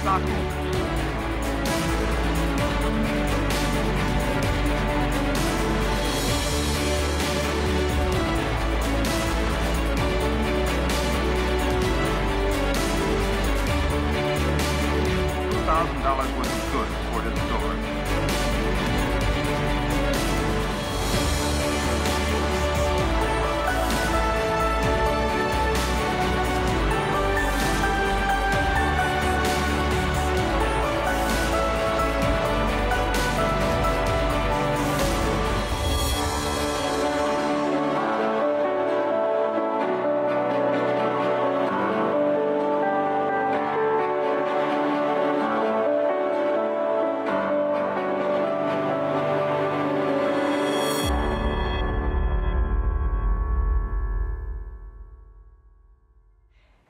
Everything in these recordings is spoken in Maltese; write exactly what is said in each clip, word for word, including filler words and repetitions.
stockholders. Thousand dollars worth of goods for his store.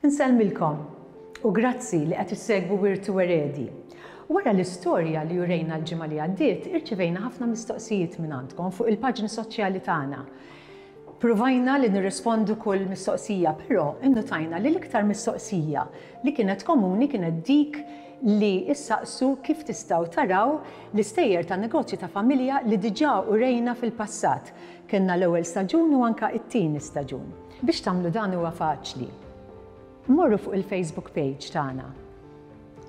Insellmilkom u grazzi li qed issegwu Wirt u Eredi. Wara l-istorja li urejna l-ġimgħa li għaddiet, irċevejna ħafna mistoqsijiet minn għandkom fuq il-paġni soċjali tagħna. Provajna li nirrispondu kull mistoqsija, però innotajna li l-iktar mistoqsija li kienet komuni kienet dik li issaqsu kif tistgħu taraw l-istejjer ta' negozju ta' familja li diġà urejna fil-passat. Kellna l-ewwel staġun u anka it-tieni staġun. Biex tagħmlu dan huwa faċli. Morru fuq il-Facebook page tagħna.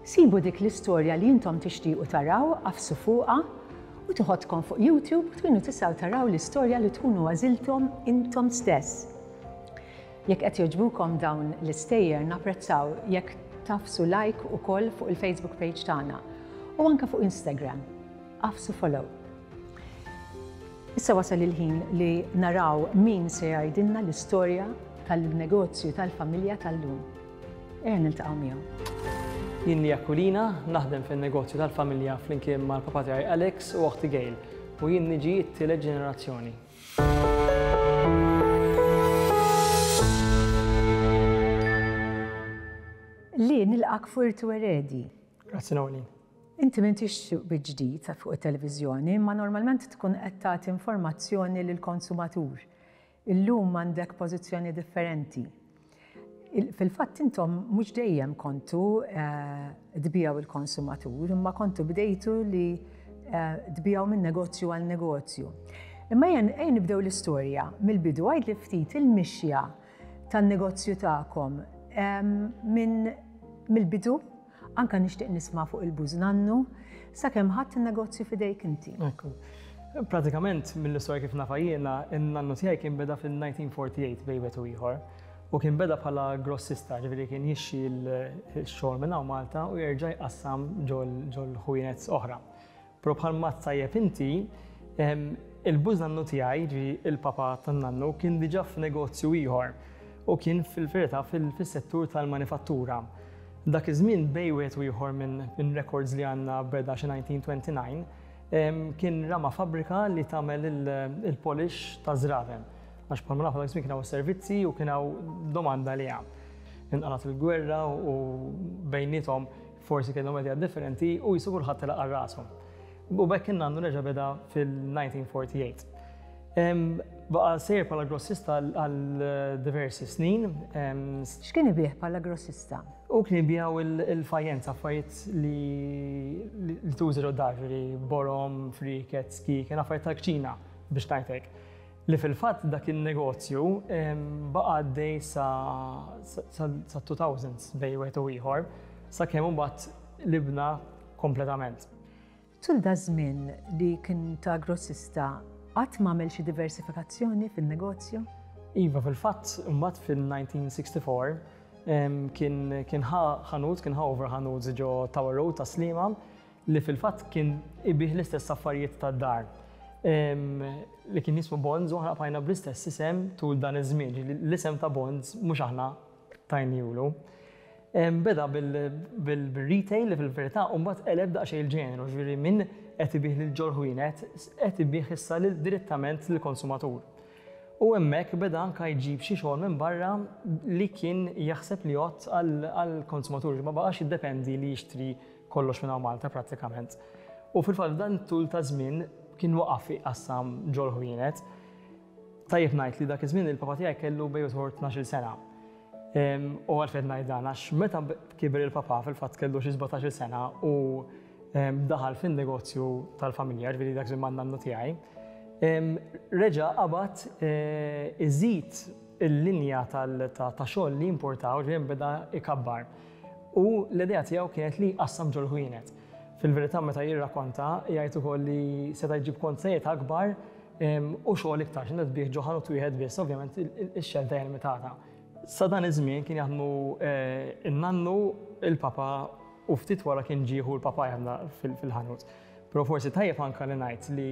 Sibu dik l-istorja li intom tixtiequ taraw, għafsu fuqha u toħodkom fuq YouTube u tkunu tistgħu taraw l-istorja li tkunu għażiltom intom stess. Jekk qed jogħġbukom dawn l-istejjer napprezzaw jekk tagħfsu like ukoll fuq il-Facebook page tagħna u anke fuq Instagram. Għafsu follow. Issa wasal il-ħin li naraw min se jgħidilna l-istorja tal-negozju tal-familja tal-lum. Ejja niltaqgħu miegħu. Jien Lee Aquilina, naħdem fin-negozju tal-familja flimkien mal-papa tiegħi Alex u oħti Gail u jien niġi t-tielet ġenerazzjoni. Li nilqak Wirt u Eredi. Grazzi Noeline. Inti m'intix ġdid fuq it-televiżjoni, imma normalment tkun qed tagħti informazzjoni lill-konsumatur. Illum għandek pożizzjoni differenti. Fil-fatt intom mhux dejjem kontu tbiegħu il-konsumatur, imma kontu bdejtu li tbiegħu minn negozju għal negozju. Imma ejja nibdew l-istorja mill-bidu, għid li ftit il-mixja tan-negozju tagħkom minn mill-bidu, anka nixtieq nisma' fuq il-bużnannu, sakemm ħadd in-negozju f'idejk inti. Ekku. Pratikament mill-istorja kif nafa jiena, in-nannu tiegħi kien beda fil-nineteen forty-eight bejn wieħed u ieħor u kien beda bħala grossista, ġifieri kien jixxi l-xogħol minn hawn Malta u jerġa' jqassam ġol ħwienet oħra. Però bħalma tajjeb inti, il-bużnannu tiegħi, ġifieri il-papa tan-nannu, kien diġà f'negozju ieħor u kien fil-verità fis-settur tal-manifattura. Dak iż-żmien bejn wieħed u ieħor minn records li għandna beda xi nineteen twenty-nine, kien rama fabbrika li tagħmel il-polish ta' żraven. Għax bħalma nafu dak iż-żmien kien hawn servizzi u kien hawn domanda li hemm. Inqalgħet il-gwerra u bejniethom forsi kellhom idea differenti u jisu kulħadd telaq għal rashom. U b'hekk in-nannu reġa' beda fil-nineteen forty-eight. Baqa' sejjer bħala grossista għal diversi snin. X'kien ibih bħala grossista? U kien ibiegħu il-fajjenza, affarijiet li tuża ġod-dar, ġifieri borom, friket, ski, kien affarijiet tal-kċina biex ngħidlek. Li fil-fatt dak in-negozju baqa' għaddej sa two thousands bejn wieħed u ieħor, sakemm imbagħad libna kompletament. Tul da żmien li kien ta' grossista, qatt m'għamel xi diversifikazzjoni fin-negozju? Iva, fil-fatt imbagħad fil-nineteen sixty-four kien, kien ħa ħanut, kien ħa over ħanut ġo Tower Road ta' Sliema li fil-fatt kien ibih l-istess affarijiet tad-dar. Li kien jismu Bonds u aħna bqajna bl-istess isem tul dan iż-żmien, ġifieri l-isem ta' Bonds mhux aħna tajnielu. Beda bil-retail li fil-verità u mbagħad qeleb daqsxejn il-ġeneru, ġifieri minn qed ibih lil ġol ħwienet qed ibih issa direttament lill-konsumatur. U hemmhekk beda anke jġib xi xogħol minn barra li kien jaħseb li jgħodd għall-konsumatur, ma baqax jiddependi li jixtri kollox minn hawn Malta prattikament. U fil-fatt dan tul ta' żmien kien waqaf iqassam ġol ħwienet. Tajjeb ngħid li dak iż-żmien il-papa tiegħi kellu bejn ieħor tnax-il sena. U għalfejn ngħid dan, għax meta kiber il-papa fil-fatt kellu xi sbatax-il sena u daħal fin-negozju tal-familja, ġifieri dak żmien man-nannu tiegħi, reġa' qabad iżid il-linja ta' xogħol li importaw, ġifieri beda ikabbar. U l-idea tiegħu kienet li qassam ġol-ħwienet. Fil-verità meta jirrakkonta jgħid ukoll li seta' jġib konzejiet akbar u xogħol iktar, x'inhu tbih ġo ħanut wieħed biss, ovvjament ix-xelta hija limitata. Sa dan iż-żmien kien jaħdmu in-nannu, il-papa u ftit wara kien ġieħu l-papa jaħdem fil-ħanut. Però forsi tajjeb anke li ngħid li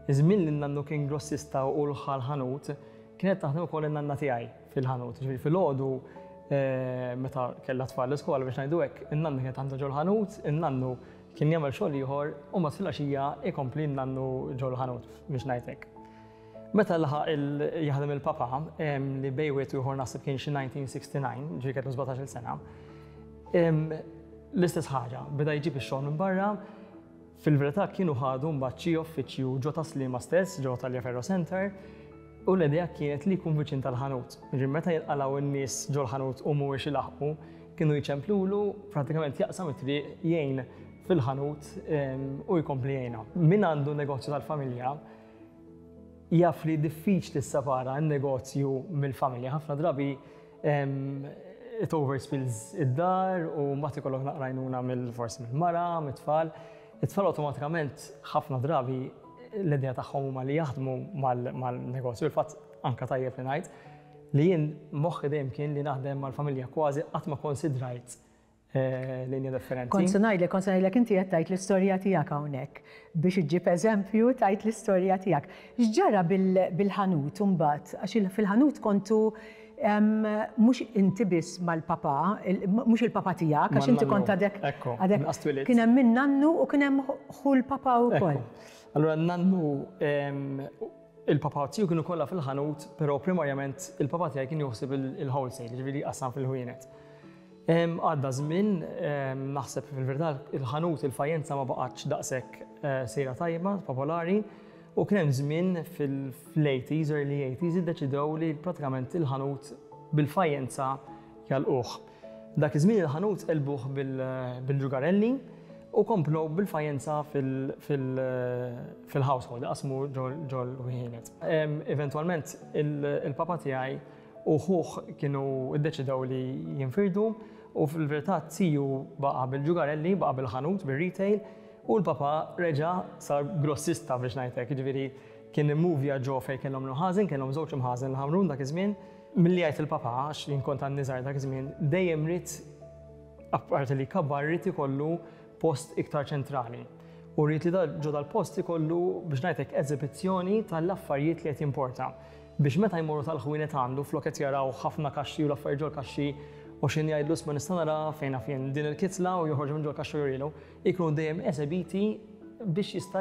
iż-żmien li n-nannu kien grossista u l-ħanut kienet taħdem ukoll in-nanna tiegħi fil-ħanut. Ġifieri filgħodu meta kellha tfal l-iskola biex ngħidu hekk, in-nannu kienet għandha ġol-ħanut, in-nannu kien jagħmel xogħol ieħor u mbagħad filgħaxija ikompli n-nannu ġol-ħanut biex ngħid hekk. Meta laħaq jaħdem il-papa li bejwet ieħor naħseb kien xi nineteen sixty-nine, ġifieri kellu sbatax-il sena, l-istess ħaġa, beda jġib ix-xogħol minn barra. Fil-verità kienu ħadu mbagħad xi uffiċċju ġo Taslima stess, ġo Tagliaferro Center, u l-idea kienet li jkun viċin tal-ħanut. Ġifieri meta jinqalgħu n-nies ġol-ħanut u mhuwiex ilaħqu, kienu jċemplulu, pratikament jaqsam it-triq jgħin fil-ħanut u jkompli jgħinha. Min għandu negozju tal-familja jaf li diffiċli tissepara n-negozju mill-familja. Ħafna drabi it overspills id-dar u mbagħad ikollok naqra għajnuna mill-forsi mill-mara, mit-tfal. It-tfal awtomatikament ħafna drabi l-idea tagħhom huma li jaħdmu mal-negozju. Il-fatt anka tajjeb li ngħid li jien moħħi dejjem kien li naħdem mal-familja, kważi qatt ma konsidrajt linja differenti. Kont se ngħidlek, kont se ngħidlek inti qed tgħid l-istorja tiegħek hawnhekk biex iġġib eżempju tgħid l-istorja tiegħek. X'ġara bil-ħanut imbagħad? Għax fil-ħanut kontu mhux inti biss mal-papa, mhux il-papa tiegħek, għax inti kont għadek għadek kien hemm min nannu u kien hemm ħu l-papa wkoll. Allura nannu il-papa tiegħu kienu kollha fil-ħanut, però primarjament il-papa tiegħi kien joħseb il-wholesale, ġifieri qasam fil-ħwienet. Għadda żmien, naħseb fil-verità il-ħanut il-fajjenza ma baqgħetx daqshekk sejra tajba, popolari, u kien hemm żmien fil-eighties, early eighties, iddeċidew li pratikament il-ħanut bil-fajjenza jalquh. Dak iż-żmien il-ħanut qelbuh bil-ġugarelli u komplu bil-fajjenza fil-household, qasmu ġol-ħwienet. Eventwalment il-papa tiegħi u ħuh kienu iddeċidew li jinfirdu u fil-verità tiju baqa' bil-ġugarelli, baqa' bil-ħanut, bil-retail, u l-papa reġa' sar grossista biex ngħidlek, jiġifieri kien immuvja ġo fejn kellhom l-imħażen, kellhom żewġ imħażen l-Ħamrun dak iż-żmien. Milli jgħid il-papa, għax jien kont għandi żgħar dak iż-żmien, dejjem ried, apparti li kabbar, ried ikollu post iktar ċentrali. U rrid li ġo dal-post ikollu biex ngħidlek eżibizzjoni tal-affarijiet li qed jimporta. Biex meta jmorru tal-ħwienet għandu flok qed jaraw ħafna kaxxi u l-affarijiet ġol-kaxxi u x'in jgħidlu ma nista' nara fejn naf jien din il-kitla u joħorġu minn ġol-kaxxa u jurilu, ikunu dejjem esebiti biex jista'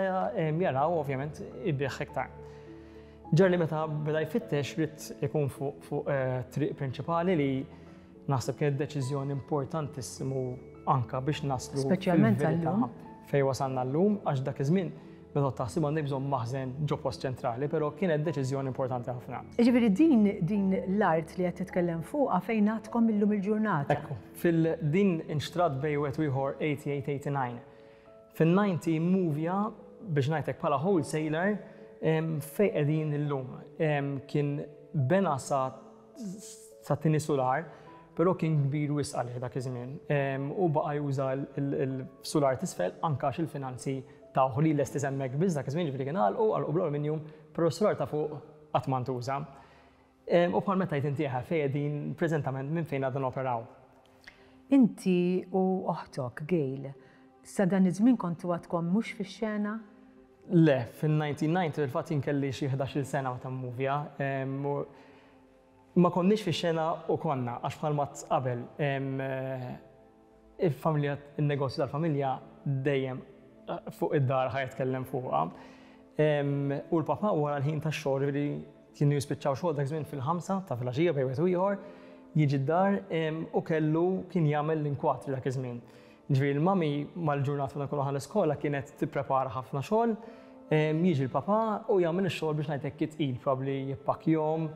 jaraw ovvjament ibih iktar. Ġar li meta beda jfittex ried ikun fuq triq prinċipali li naħseb kienet deċiżjoni importantissimu anka biex naslu Speċjalment fil-verità għallum. fejn wasalna llum, għax dak iż-żmien meta taħsib għandek bżonn maħżen ġo post ċentrali, però kienet deċiżjoni importanti ħafna. Jiġifieri din, din l-art li qed titkellem fuqha fejn għadkom illum il-ġurnata. Ekku, fil-din inxtrat bej wieħed u ieħor eighty-eight eighty-nine. Fin-ninety movja biex ngħidlek bħala wholesaler fejn qegħdin illum. Kien bena sa, sa tieni sular, però kien kbir wisq għalih dak iż-żmien. U baqa' juża il-sular t'isfel anke għax il-finanzi tawh li lesti hemmhekk biss dak iż-żmien, ġifieri kien għalqu, għalqu bl-aluminium, però s-sular ta' fuq qatt ma ntuża. U bħal meta jgħid inti fejn qegħdin preżentament minn fejn għadna noperaw. Inti u oħtok, Gail, sa dan iż-żmien kontu għadkom mhux fix-xena? Le, fin-nineteen ninety fil-fatt jien kelli xi ħdax-il sena meta mmuvja. Ma konniex fix-xena u konna, għax bħal ma qabel, il-familja, il-negozju tal-familja dejjem fuq id-dar ħa jitkellem fuqha. U l-papa wara l-ħin tax-xogħol, ġifieri kienu jispiċċaw xogħol dak żmien fil-ħamsa ta' filgħaxija bejn wieħed u ieħor, jiġi d-dar u kellu kien jagħmel l-inkwatri dak iż-żmien. Ġifieri l-mami mal-ġurnata meta nkunu ħal-iskola kienet tipprepara ħafna xogħol, jiġi l-papa u jagħmel ix-xogħol biex ngħidlek kitqil, probabbli jippakkjahom,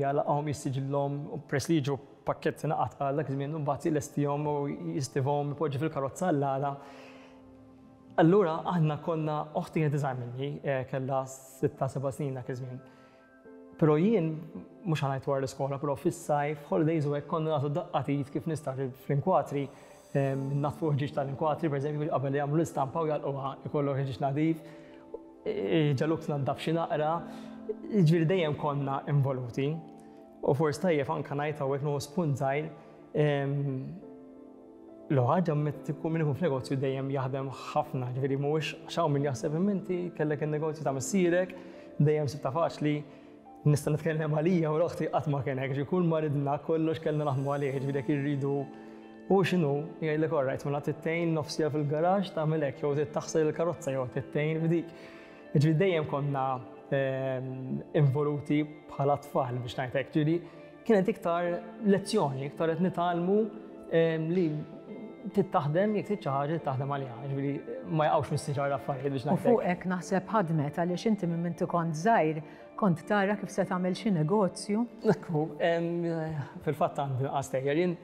jalaqhom, jissiġillhom, u press li jiġu pakketti naqat għal dak iż-żmien u mbagħad jlestihom u jistivhom ipoġġi fil-karozza għall-għada. Allura aħna konna oħti kienet iżgħar minni, kellha sitta seba' snin dak iż-żmien. Però jien mhux ħa ngħid wara l-iskola, però fis-sajf, holidays u hekk konna nagħtu daqqa t'id kif nistgħu fl-inkwatri, natfu ħġieġ tal-inkwatri, pereżempju, qabel jagħmlu l-istampa u jagħlquha ikollok ħġieġ nadif, ġaluk tnaddaf xi naqra, jiġifieri dejjem konna involuti. U forsi tajjeb anke ngħid hawnhekk nieħu spunt żgħir, l-ħaġa meta tkun min ikun f'negozju dejjem jaħdem ħafna, ġifieri mhuwiex għax hawn min jaħseb imma inti kellek in-negozju ta' missierek, dejjem sibta faċli. Nista' nitkellem għalija u l-oħti qatt ma kien hekk, ġifieri kull ma ridna kollox kellna naħdmu għalih, ġifieri jekk irridu u x'inhu, jgħidlek all right, mela tittejn nofsija fil-garaġġ tagħmel hekk, jew trid taħsel il-karozza jew tittejn f'dik. Ġifieri dejjem konna involuti bħala tfal biex ngħid hekk, ġifieri kienet iktar lezzjoni, iktar qed nitgħallmu li tittaħdem jekk trid xi ħaġa taħdem għaliha, ġifieri ma jaqgħux mis-siġar l-affarijiet biex ngħid. U fuqek naħseb ħadmet għaliex inti minn minti kont żgħir kont tara kif se tagħmel xi negozju. Ekku, fil-fatt għandi nqas tejjer jien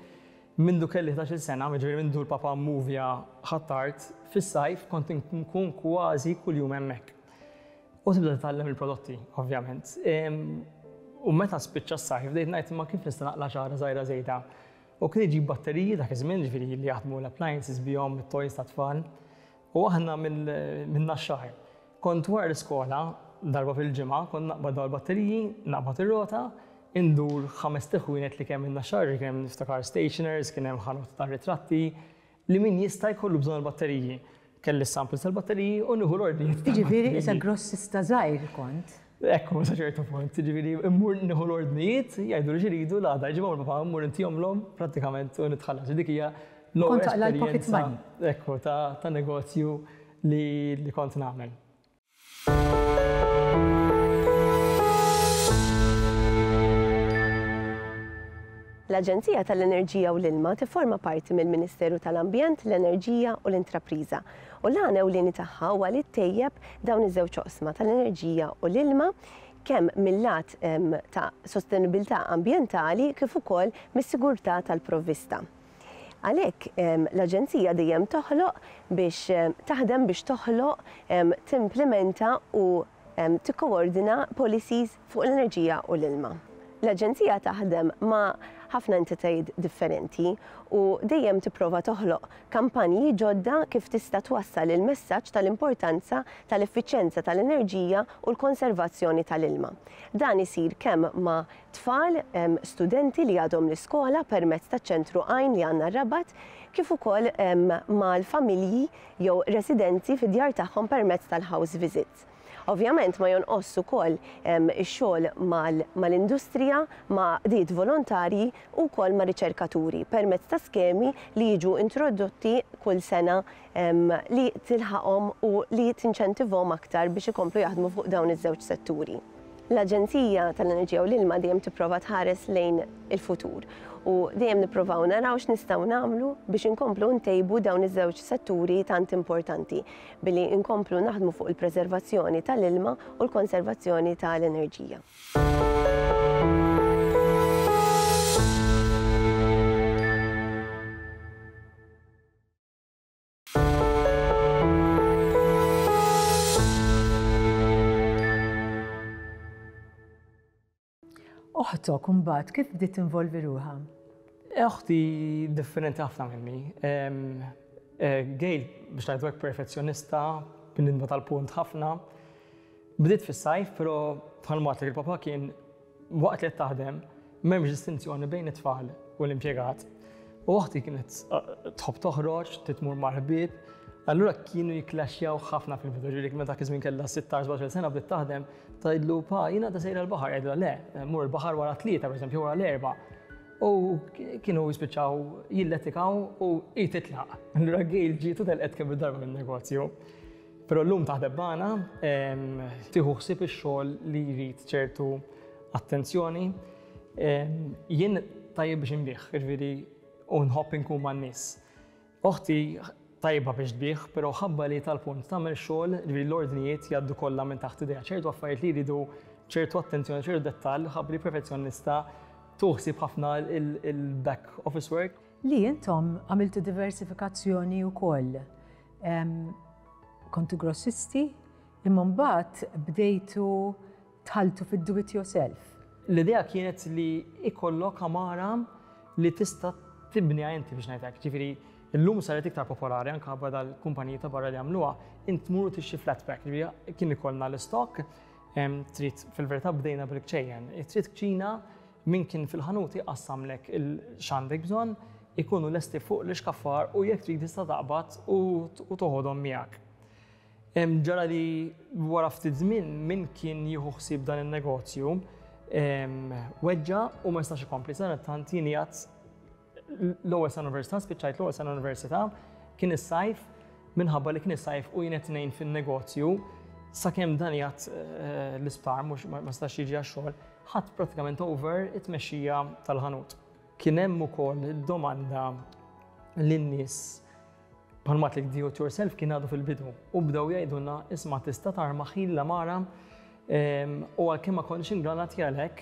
mindu kelli ħdax-il sena, jiġifieri mindu l-papa movja Ħ'Attard, fis-sajf kont nkun kważi kuljum hemmhekk. U tibda titgħallem il-prodotti, ovvjament. U meta spiċċa s-sajf bdejt ngħid imma kif nista' naqla' xi ħaġa żgħira żejda. U kien iġib batteriji dak iż-żmien, ġifieri li jaħdmu l-appliances bihom, it-toys tat-tfal. U aħna minn Naxxar. Kont wara l-iskola, darba fil-ġimgħa, kont naqbad dawn il-batteriji, naqbad ir-rota, indur ħames teħwienet li kemm in-Naxxar, kien hemm niftakar stationers, kien hemm ħanut tar-ritratti, li min jista' jkollu bżonn il-batteriji. Kelli samples tal-batteriji u nieħu l-ordnijiet. Jiġifieri issa grossista żgħir kont. Ekku, sa ċertu punt, jiġifieri immur nieħu l-ordnijiet, jgħidu li x'iridu, l-għada jġibhom il-papa, mmur intihomlhom prattikament u nitħallas. Dik hija l-ewwel Kont taqla' l-pocket esperjenza, money. Ekku, ta' ta' negozju li, li kont nagħmel. L-Aġenzija tal-Enerġija u l-Ilma tifforma parti mill-Ministeru tal-Ambjent, l-Enerġija u l-Intrapriża. U l-għan ewlieni tagħha huwa li ttejjeb dawn iż-żewġ oqsma tal-enerġija u l-ilma kemm mill-lat, em, ta' sostenibilità ambjentali kif ukoll mis-sigurtà tal-provvista. Għalhekk, em, l-Aġenzija dejjem toħloq biex, em, taħdem biex toħloq, em, timplementa u, em, tikkoordina policies fuq l-enerġija u l-ilma. L-Aġenzija taħdem ma' ħafna entitajiet differenti u dejjem tipprova toħloq kampanji ġodda kif tista' twassal il-messaġġ tal-importanza tal-effiċjenza tal-enerġija u l-konservazzjoni tal-ilma. Dan isir kemm ma' tfal, em, studenti li għadhom l-iskola permezz taċ-ċentru Għajn li għandna r-Rabat, kif ukoll, em, mal-familji jew residenti fid-djar tagħhom permezz tal-house visits. Ovvjament ma jonqos ukoll, em, ix-xogħol mal-, mal-industrija, ma' qdiet volontarji u wkoll ma' riċerkaturi permezz ta' skemi li jiġu introdotti kull sena, em, li tilħaqhom u li tinċentivhom aktar biex ikomplu jaħdmu fuq dawn iż-żewġ setturi. L-Aġenzija tal-Enerġija u l-Ilma dejjem tipprova tħares lejn il-futur u dejjem nippruvaw naraw x'nistgħu nagħmlu biex inkomplu ntejbu dawn iż-żewġ setturi tant importanti billi nkomplu naħdmu fuq il-preservazzjoni tal-ilma u l-konservazzjoni tal-enerġija. Oħtok imbagħad kif bdiet tinvolvi ruħha? Oħti differenti ħafna minni. Em, eh, Gail, biex ngħidu hekk perfezzjonista, bnidma tal-punt ħafna. Bdiet fis-sajf, però bħalma għedtlek il-papa kien waqt li qed taħdem m'hemmx distinzjoni bejn it-tfal u l-impjegat. U oħti kienet, eh, tħobb toħroġ, titmur mal-ħbieb, allura kienu jiklaxjaw ħafna fil-bidu, ġifieri meta dak iż-żmien kellha sittax, sbatax-il sena bdiet taħdem, tgħidlu pa, jiena ta' sejra l-baħar, jgħidilha le, mur il-baħar wara tlieta, pereżempju wara l-erba'. U kienu jispiċċaw jilletikaw u hi titlaq. Allura Gail ġiet u telqet kemm il-darba min-negozju. Però llum taħdem magħna, em, tieħu ħsieb ix-xogħol li jrid ċertu attenzjoni. Em, jien tajjeb biex inbih, jiġifieri u nħobb inkun man-nies. Oħti tajba biex tbih, però ħabba li tal-punt tagħmel xogħol, jiġifieri l-ordnijiet jgħaddu kollha minn taħt idejha, ċertu affarijiet li jridu ċertu attenzjoni, ċertu dettall, ħabba li perfezzjonista Tuħsib ħafna il-back office work. Li intom għamiltu diversifikazzjoni wkoll. Kontu grossisti, imma mbagħad bdejtu dħaltu fid-do it yourself. L-idea kienet li ikollok għamara li tista' tibniha inti, biex ngħidlek. Ġifieri, illum saret iktar popolari anke dal-kumpaniji ta' barra li għamluha, int tmur tixtri flat pack. Ġifieri kien ikollna l-stock, trid, fil-verità bdejna bil-kċejjen. Trid kċina, min kien fil-ħanuti qassamlek x'għandek bżonn, ikunu lesti fuq l-ixkaffar u jekk trid tista' taqbad u toħodhom miegħek. Ġara li wara ftit żmien min kien jieħu ħsieb dan in-negozju weġġa u ma jistax ikompli. Sadanittant jien qiegħed l-ewwel sena università, spiċċajt l-ewwel sena università, kien is-sajf, minħabba li kien is-sajf u jien qed ngħin fin-negozju, sakemm dan qiegħed eh, l-isptar, mhux ma stax jiġi għax-xogħol, ħadt pratikament over it-tmexxija tal-ħanut. Kien hemm ukoll domanda lin-nies, bħalma għedtlek, do it yourself kien għadu fil-bidu u bdew jgħidulna, "Isma', tista' tarma l-għamara?" U għalkemm ma konniex ingranati għalhekk,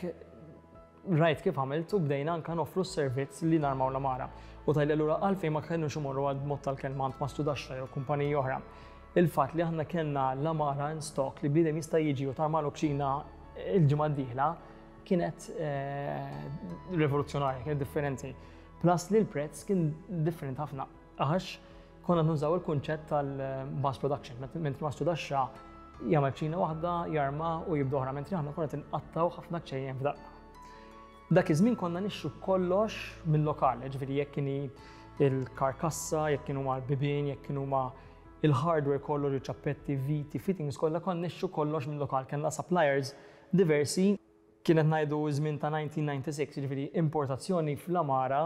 rajt kif għamilt u bdejna anka noffru s-servizz li narmaw l-għamara. U tajli allura għalfejn ma kienux imorru għal mod tal-kelma għand mastrudaxxa jew kumpaniji oħra. Il-fatt li aħna kellna l-għamara in stock li bniedem jista' jiġi u tarmalu kċina il-ġimgħa d-dieħla kienet eh, rivoluzzjonarja, kienet differenti. Plus li l-prezz kien differenti ħafna. Għax konna nużaw il-kunċett tal-mass production, mentri mastrudaxxa jagħmel kċina waħda, jarma u jibdu oħra, mentri aħna konna tinqattaw ħafna kċejjen f'daqqa. Dak iż-żmien konna nixtru kollox mill-lokal, ġifieri jekk kieni il-karkassa, jekk kienu ma l-bibien, jekk kienu ma il-hardware kollu, ċappetti, viti, fittings kollha, konna nixtru kollox mill-lokal, kellna suppliers diversi. Kienet ngħidu żmien ta' elf disa' mija u disgħa u disgħin, ġifieri importazzjoni fl-għamara,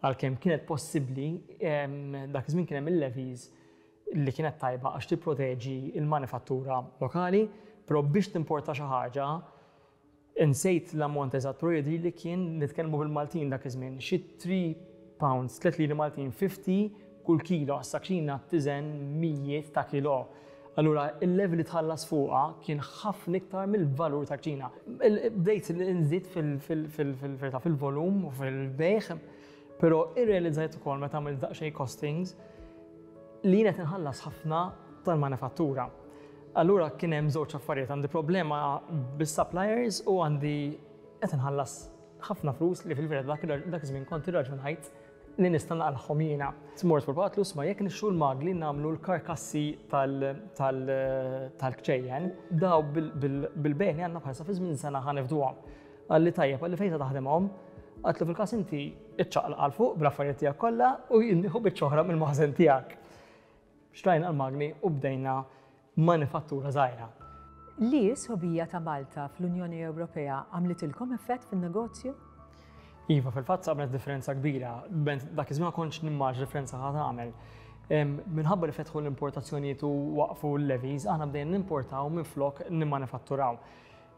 għalkemm kienet possibbli, dak iż-żmien kien hemm il-levies li kienet tajba għax tipproteġi il-manifattura lokali, però biex timporta xi ħaġa, insejt l-ammont eżatt, però jidri li kien nitkellmu bil-Maltin dak iż-żmien, xi tliet pounds, tliet liri Maltin ħamsin kull kilo, issa kċina tiżen mijiet ta' kilo. Allura, il-levy li tħallas fuqha kien ħafna iktar mill-valur ta' kċina. Bdejt nżid fil-verità fil-volum u fil-bejgħ, però irrealizzajt ukoll meta għamilt daqsxejn costings li jien qed inħallas ħafna tal-manifattura. Allura kien hemm żewġ affarijiet: għandi problema bis-suppliers u għandi qed inħallas ħafna flus li fil-verità dak iż-żmien kont irraġunajt li nista' naqilgħhom jiena. Mort fil-patlu, ma jekk nixtru l-magni, nagħmlu l-karkassi tal-kċejjen, daw bil-bejgħ li għandna bħalissa fi żmien sena ħa nifduhom. Qalli tajjeb, qalli fejn taħdemhom? Għedtlu fil-każ inti iċċaqlaq għal fuq bl-affarijiet tiegħek kollha u jien nieħu biċċa oħra mill-maħżen tiegħek. Xtrajna l-magni u bdejna manifattura żgħira. Li s-sħubija ta' Malta fl-Unjoni Ewropea għamlitilkom effett fin-negozju? Iva, fil-fatt għamlet differenza kbira. Dak iż-żmien ma kontx nimmaġina differenza ħa tagħmel. Minħabba li fetħu l-importazzjonijiet u waqfu l-levies, aħna bdejna nimportaw minn flok nimmanifatturaw.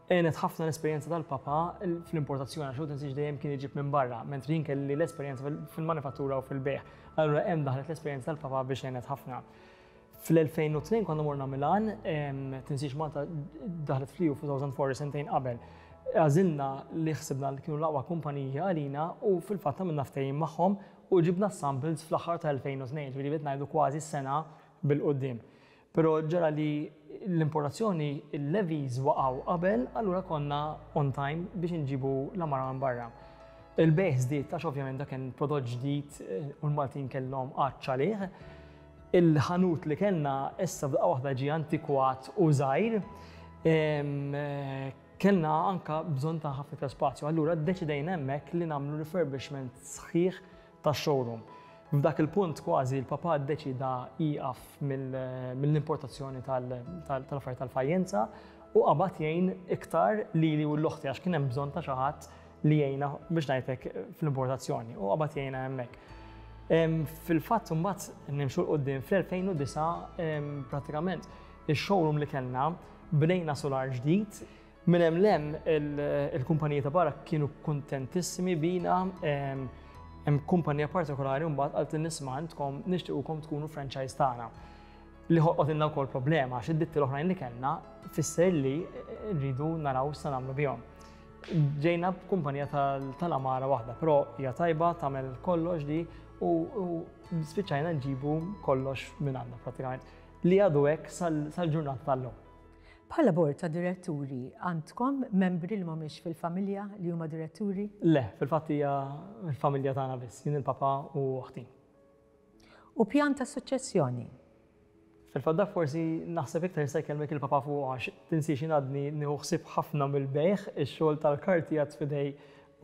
Għenet ħafna l-esperjenza tal-papa fl-importazzjoni, għax tinsiex dejjem kien iġib minn barra, mentri jien kelli l-esperjenza fil-manifattura u fil-bejgħ. Allura hemm daħlet l-esperjenza tal-papa biex għenet ħafna. Fl-elfejn u tnejn konna morna Milan, tinsiex Malta daħlet fl-E U fl-elfejn u erbgħa, sentejn qabel. Għażilna li ħsibna li kienu l-aqwa kumpanija għalina u fil-fatt għamilna ftehim magħhom u ġibna samples fl-aħħar ta' elfejn u tnejn, ġifieri bdejt ngħidu kważi sena bil-quddiem. Però ġara li l-importazzjoni, il-levies waqgħu qabel, allura konna on time biex nġibu l-għamara minn barra. Il-bejgħ żdied għax ovvjament dak kien prodott ġdid eh, u l-Maltin kellhom għatx għalih. Il-ħanut li kellna issa f'daqqa waħda ġie antikwat u żgħir. Eh, kellna anka bżonn ta' ħafna iktar spazju, allura ddeċidejna hemmhekk li nagħmlu refurbishment sħiħ ta' showroom. F'dak il-punt kważi l-papa ddeċida jieqaf mill-importazzjoni tal-affarijiet tal-fajjenza u qabad jgħin iktar lili u 'l oħti, għax kien hemm bżonn ta' xi ħadd li jgħinna, biex ngħidlek, fl-importazzjoni u qabad jgħinna hemmhekk. Fil-fatt mbagħad nimxu 'l quddiem, fl-elfejn u disgħa pratikament il-showroom li kellna bnejna solar ġdid. Minn hemm 'l hemm il-kumpaniji ta' barra kienu kuntentissimi bina. Hemm kumpanija partikolari mbagħad qalt, "Isma', intkom nixtiequkom tkunu franchise tagħna." Li ħolqotilna wkoll problema għax id-ditti l-oħrajn li kellna fisser li rridu naraw sa nagħmlu bihom. Ġejna b'kumpanija tal-għamara waħda, però hija tajba, tagħmel kollox di u spiċċajna nġibu kollox minn għandna pratikament. Li għadu hekk sal-ġurnata tal-lum. Bħala bord ta' diretturi, għandkom membri li mhumiex fil-familja li huma diretturi? Le, fil-fatt hija l-familja tagħna biss, jien il-papa u oħti. U pjan ta' suċċessjoni? Fil-fatt dak forsi naħseb iktar jista' jkellmek il-papa fuq għax tinsiex jien għadni nieħu ħsieb ħafna mill-bejgħ, ix-xogħol tal-karti għad f'idej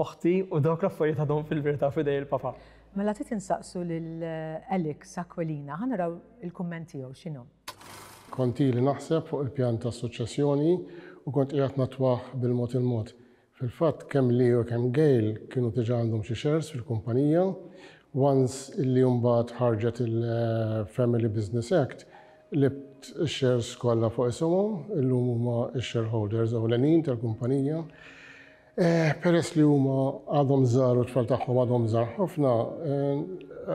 oħti u dawk l-affarijiet għadhom fil-verità f'idej il-papa. Mela trid insaqsu lil Alex Aquilina, ħa naraw il-kumment tiegħu x'inhu. Kont ili naħseb fuq il-pjan ta' suċċessjoni u kont qiegħed natwaħ bil-mod il-mod. Fil-fatt kemm li u kemm Gail kienu diġà għandhom xi shares fil-kumpanija. Once illi mbagħad ħarġet il-Family Business Act, libt shares kollha fuq isimhom, illum huma x-shareholders ewlenin tal-kumpanija. Peress li huma għadhom żgħar u t-tfal tagħhom għadhom żgħar ħafna,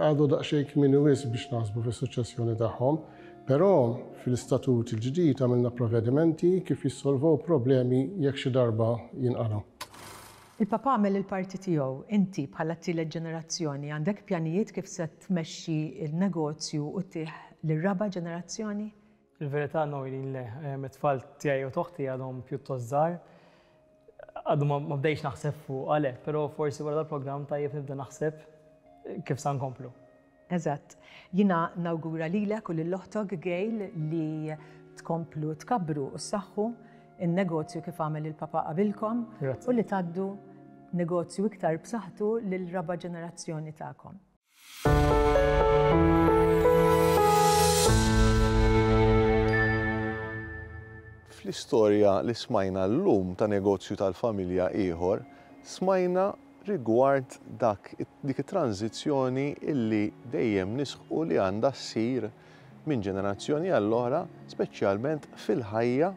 għadu daqsxejn kmieni wisq biex naħsbu fis-suċċessjoni tagħhom. Però fil-istatut il-ġdid għamilna provvedimenti kif jissolvow problemi jekk xi darba jinqalgħu. Il-papa għamel il-parti tiegħu, inti bħala t-tielet ġenerazzjoni għandek pjanijiet kif se tmexxi il-negozju u ttih lir-raba' ġenerazzjoni? Il-verità Noelin le, it-tfal tiegħi u t'oħti għadhom pjuttost żgħar. Għadu ma bdejx naħseb fuq għalek, però forsi wara dal-programm tajjeb nibda naħseb kif sa nkomplu. Eżatt. Jiena nawgura lilek u lil oħtok Gail li tkomplu tkabbru u ssaħħu in-negozju kif għamel il-papa qabilkom u li tgħaddu negozju iktar b'saħħtu lil raba' ġenerazzjoni tagħkom. Fl-istorja li smajna llum ta' negozju tal-familja ieħor, smajna rigward dak dik it-tranzizzjoni illi dejjem nisħu li għandha ssir minn ġenerazzjoni għall-oħra, speċjalment fil-ħajja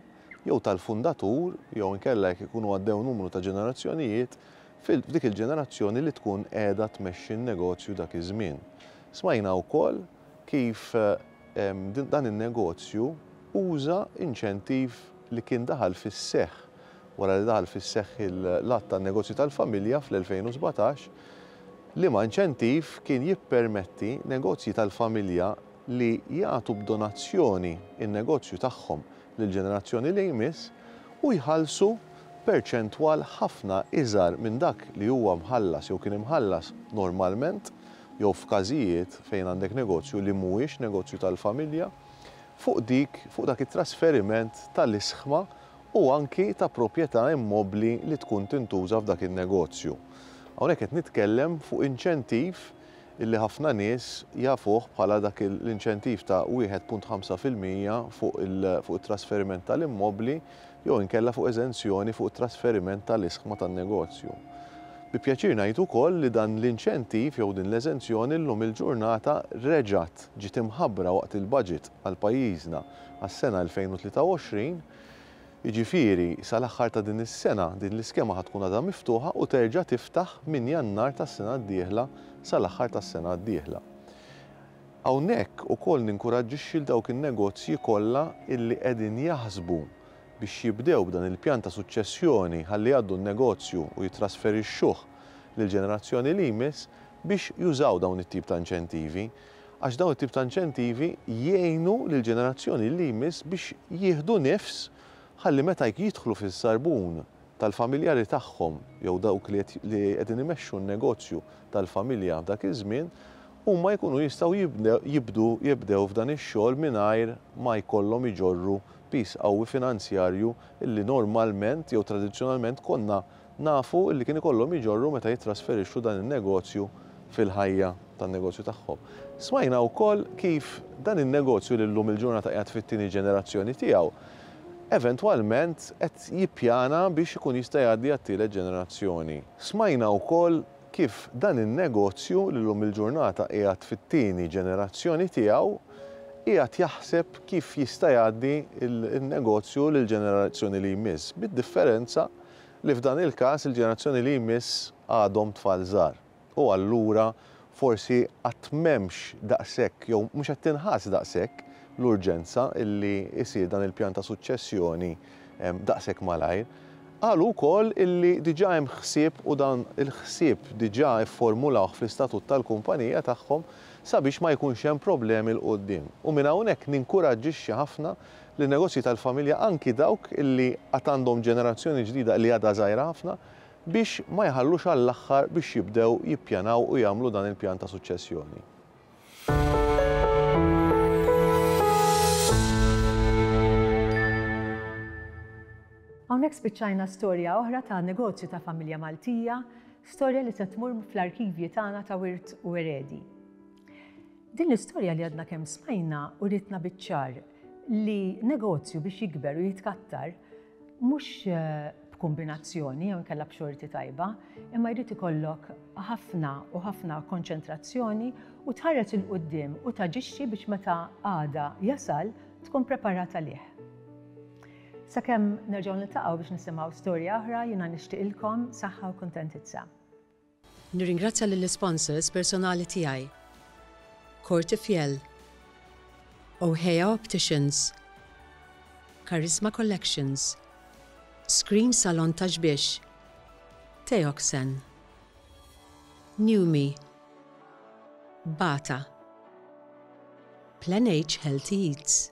jew tal-fundatur jew inkella jekk ikunu għaddew numru ta' ġenerazzjonijiet f'dik il-ġenerazzjoni li tkun qiegħda tmexxi n-negozju dak iż-żmien. Smajna wkoll kif dan in-negozju uża inċentiv li kien daħal fis-seħħ wara li daħal fis-seħħ l-att tan-negozju tal-familja fl-elfejn u sbatax, liema inċentiv kien jippermetti negozji tal-familja li jagħtu b'donazzjoni in-negozju tagħhom lill-ġenerazzjoni li jmiss u jħallsu perċentwal ħafna iżgħar minn dak li huwa mħallas jew kien imħallas normalment jew f'każijiet fejn għandek negozju li mhuwiex negozju tal-familja fuq dik fuq dak it-trasferiment tal-isħma u anki ta' proprjetà immobbli li tkun tintuża f'dak in-negozju. Hawnhekk qed nitkellem fuq inċentiv illi ħafna nies jafuh bħala dak l-inċentiv ta' wieħed punt ħamsa fil-mija fuq it-trasferiment tal-immobbli jew inkella fuq eżenzjoni fuq it-trasferiment tal-isħma tan-negozju. Bi pjaċir ngħid ukoll li dan l-inċentiv jew din l-eżenzjoni llum il-ġurnata reġgħet ġiet imħabbra waqt il-budget għal pajjiżna għas-sena elfejn u tlieta u għoxrin. Jiġifieri sal-aħħar ta' din is-sena din l-iskema ħa tkun għadha miftuħa u terġa' tiftaħ minn Jannar tas-sena d-dieħla sal-aħħar tas-sena d-dieħla. Hawnhekk ukoll ninkuraġġixxi l dawk in-negozji kollha illi qegħdin jaħsbu biex jibdew b'dan il-pjan ta' suċċessjoni ħalli jgħaddu n-negozju u jitrasferixxuh lill-ġenerazzjoni li jmiss biex jużaw dawn it-tip ta' inċentivi, għax dawn it-tip ta' inċentivi jgħinu lill-ġenerazzjoni li jmiss biex jieħdu nifs ħalli meta jidħlu fis-sarbun tal-familjari tagħhom jew dawk li qegħdin imexxu n-negozju tal-familja f'dak iż-żmien, huma jkunu jistgħu jibdu jibdew f'dan ix-xogħol mingħajr ma jkollhom iġorru piż qawwi finanzjarju illi normalment jew tradizzjonalment konna nafu illi kien ikollhom iġorru meta jittrasferixxu dan in-negozju fil-ħajja tan-negozju tagħhom. Smajna wkoll kif dan in-negozju li llum il-ġurnata qiegħed fit-tieni ġenerazzjoni tiegħu eventwalment qed jippjana biex ikun jista' jgħaddi għat-tielet ġenerazzjoni. Smajna wkoll kif dan in-negozju li llum il-ġurnata qiegħed fit-tieni ġenerazzjoni tiegħu qiegħed jaħseb kif jista' jgħaddi n-negozju lill-ġenerazzjoni li jmiss, bid-differenza li f'dan il-każ il-ġenerazzjoni li jmiss għadhom tfal żgħar. U allura forsi qatt m'hemmx daqshekk jew mhux qed tinħass daqshekk l-urġenza illi jsir dan il-pjan ta' suċċessjoni daqshekk malajr. Qalu wkoll illi diġà hemm ħsieb u dan il-ħsieb diġà fformulawh fl-istatut tal-kumpanija tagħhom sabiex ma jkunx hemm problemi 'l quddiem. U minn hawnhekk ninkuraġġixxi ħafna lin-negozji tal-familja, anki dawk illi għad għandhom ġenerazzjoni ġdida li għadha żgħira ħafna, biex ma jħallux għall-aħħar biex jibdew jippjanaw u jagħmlu dan il-pjan ta' suċċessjoni. Hawnhekk spiċċajna storja oħra ta' negozju ta' familja Maltija, storja li se tmur fl-arkivji tagħna ta' Wirt u Eredi. Din l-istorja li għadna kemm smajna uritna biċ-ċar li negozju biex jikber u jitkattar mhux b'kombinazzjoni jew inkella b'xorti tajba, imma jrid ikollok ħafna u ħafna konċentrazzjoni u tħares 'il quddiem u taġixxi biex meta għada jasal tkun preparat għalih. Sakemm nerġgħu niltaqgħu biex nisimgħu storja oħra, jiena nixtieqilkom saħħa u kuntentizza. Nirringrazzja lill-sponsors personali tiegħi. Cortefiel, O'Hea Opticians, Charisma Collections, Screen Salon Ta' Xbiex, Teoxen, Newme, Bata, Plan H Healthy Eats.